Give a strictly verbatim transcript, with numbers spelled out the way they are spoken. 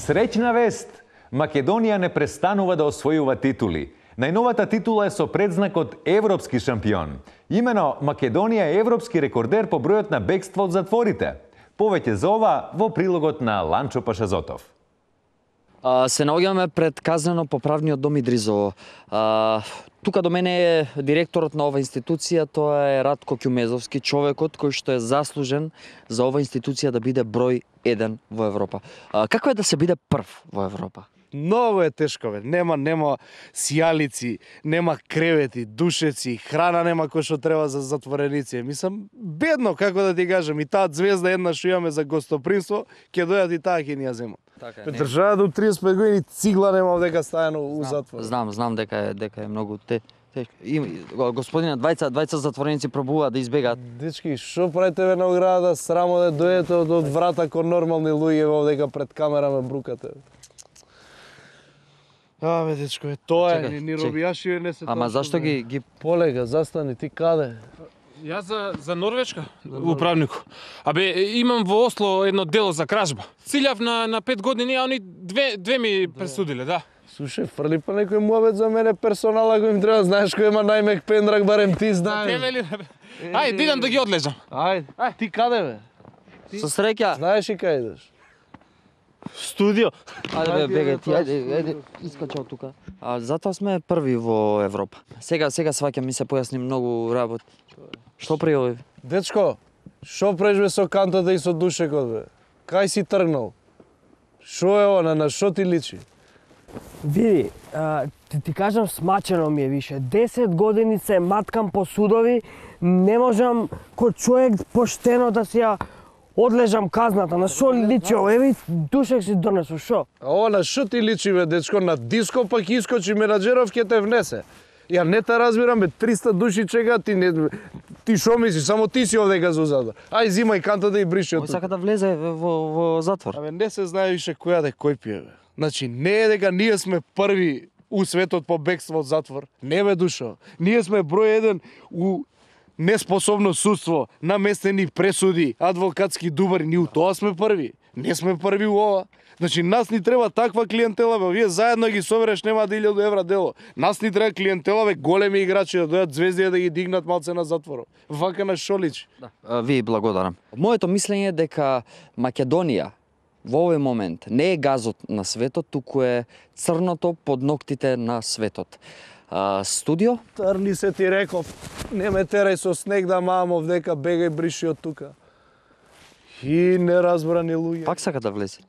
Среќна вест! Македонија не престанува да освојува титули. Најновата титула е со предзнакот Европски шампион. Имено Македонија е европски рекордер по бројот на бегство од затворите. Повеќе за ова во прилогот на Ланчо Пашазотов. А, се наоѓаме пред казнено-поправниот дом Идризово. А, тука до мене е директорот на ова институција, тоа е Радко Ќумезовски, човекот кој што е заслужен за ова институција да биде број еден во Европа. А, како е да се биде прв во Европа? Многу е тешко, бе. Нема, нема сијалици, нема кревети, душеци, храна нема кој што треба за затвореници. Мислам, бедно, како да ти кажам, и таа звезда една што имаме за гостопримство, ќе дојдат и таа ќе ни ја земат. Така, држава до триесет и пет години цигла нема дека стајано у затвор. Знам, знам дека е дека е многу те тешко. И господине, двајца двајца затвореници пробуваат да избегаат. Дечки, што правите ве на оградата, срамо да дојдете од, од врата кон нормални луѓе во дека пред камера ме брукате. А, бе, дечко, е, тоа е, ни робијаши не се тоа. Ама зашто ги ги полега, застани, ти каде? Јас за за Норвешка, управнику. Абе, имам во Осло едно дело за кражба. Цилјав на на пет години, а они две две ми пресудиле, да. Слушај, фрли па некој муабет за мене персонала кој им треба, знаеш кој има најмек пендрак, барем ти знаеш. Тебе ли? Ајде, идам да ги одлежам. Ајде, ај, ти каде бе? Со среќа. Знаеш и кај идеш? Студио. Ајде бе, бегај ти, ајде, ајде, искачи од тука. А затоа сме први во Европа. Сега сега сваќам, ми се појасни многу работи. Што приови? Дечко, што прежбе со кантата и со душекот бе? Кај си тргнал? Што е она, на што ти личи? Види, а, ти, ти кажам, смачено ми е више. десет години се маткам по судови, не можам кој човек поштено да си ја одлежам казната. На што личи ово? Еви, душек си донесу, шо? А ова на што ти личи бе, дечко? На диско пак искочи менаџеров ќе те внесе. Ја не те разбирам бе, триста души чека, ти не ти шо мислиш, само ти си овдека за узада. Ај зимај кантата и бриши од Кој тука. сака да влезе во во затвор? Абе не се знае више која да кој пие бе. Значи не е дека ние сме први у светот по бегство од затвор. Не бе душо. Ние сме број еден у неспособно судство, наместени пресуди, адвокатски дубари, ние у тоа сме први. Не сме први у ова. Значи, нас ни треба таква клиентела, бе, вие заедно ги собереш, нема да илјаду евра дело. Нас ни треба клиентела, бе, големи играчи да дојдат звезди да ги дигнат малце на затворот. Вака на шо личи? Да. Ви благодарам. Моето мислење е дека Македонија во овој момент не е газот на светот, туку е црното под ноктите на светот. А, студио? Трни се ти реков, не ме терај со снег да мамо вдека бегај бриши од тука. И неразбрани луѓе. Пак сака да влезе.